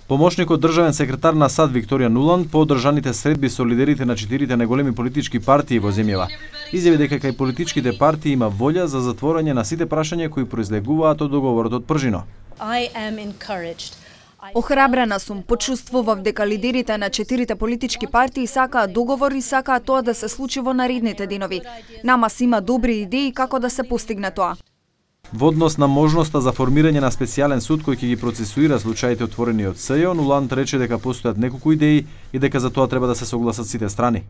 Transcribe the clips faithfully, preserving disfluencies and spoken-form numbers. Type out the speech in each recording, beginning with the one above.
Помошникот државен секретар на САД Викторија Нуланд по одржаните средби со лидерите на четирите најголеми политички партии во земјава изјави дека кај политичките партии има волја за затворање на сите прашања кои произлегуваат од договорот од Пржино. Охрабрена сум, почувствував дека лидерите на четирите политички партии сакаат договор и сакаат тоа да се случи во наредните денови. Нама си има добри идеи како да се постигне тоа. Во однос на можноста за формирање на специјален суд кој ќе ги процесуира случаите отворени од СЈО, Нуланд рече дека постојат неколку идеи и дека за тоа треба да се согласат сите страни.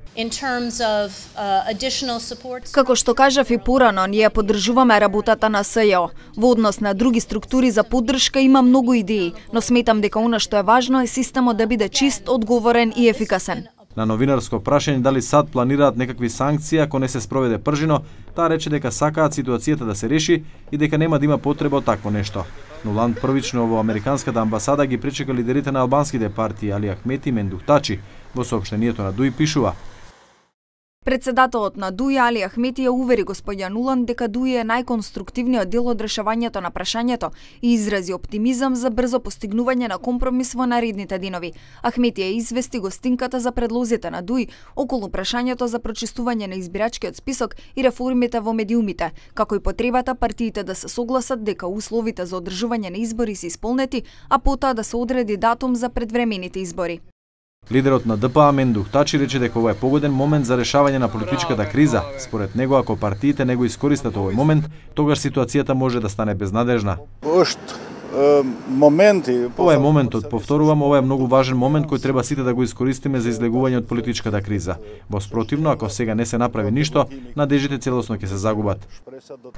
Како што кажав и порано, ние поддржуваме работата на СЈО. Во однос на други структури за поддршка има многу идеи, но сметам дека она што е важно е системот да биде чист, одговорен и ефикасен. На новинарско прашање дали САД планираат некакви санкции ако не се спроведе Пржино, таа рече дека сакаат ситуацијата да се реши и дека нема да има потреба од такво нешто. Нуланд првично во американската амбасада ги пречека лидерите на албанските партии Али Ахмети и Мендух Тачи. Во соопштението на ДУИ пишува: Председателот на ДУИ Али Ахмети ја увери господја Нуланд дека ДУИ е најконструктивниот дел од решавањето на прашањето и изрази оптимизам за брзо постигнување на компромис во наредните денови. Ахмети ја извести гостинката за предлозите на ДУИ околу прашањето за прочистување на избирачкиот список и реформите во медиумите, како и потребата партиите да се согласат дека условите за одржување на избори се исполнети, а потоа да се одреди датум за предвремените избори. Лидерот на ДПА Мендух Тачи рече дека ова е погоден момент за решавање на политичката криза. Според него, ако партиите не го искористат овој момент, тогаш ситуацијата може да стане безнадежна. Ова е моментот, повторувам, ова е многу важен момент кој треба сите да го искористиме за излегување од политичката криза. Во спротивно, ако сега не се направи ништо, надежите целосно ќе се загубат.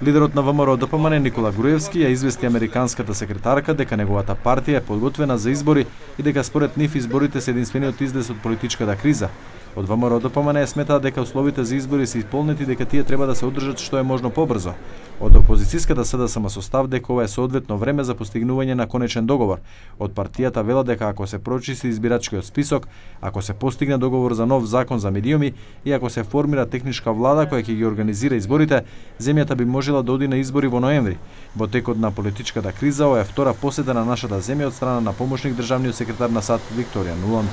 Лидерот на ВМРО Д П М Н Никола Груевски ја извести американската секретарка дека неговата партија е подготвена за избори и дека според нив изборите се единствениот излез од политичката криза. Од ВМРО Д П М Н сметаат дека условите за избори се исполнети и дека тие треба да се одржат што е можно побрзо. Од опозицијската С Д С М со став дека ова е соодветно време за постигнување на конечен договор. Од партијата велат дека ако се прочисти избирачкиот список, ако се постигне договор за нов закон за медиуми и ако се формира техничка влада која ќе ги организира изборите, земјата би можела да оди на избори во ноември. Во текот на политичката криза ова е втора посета на нашата земја од страна на помошник државниот секретар на САД Викторија Нуланд.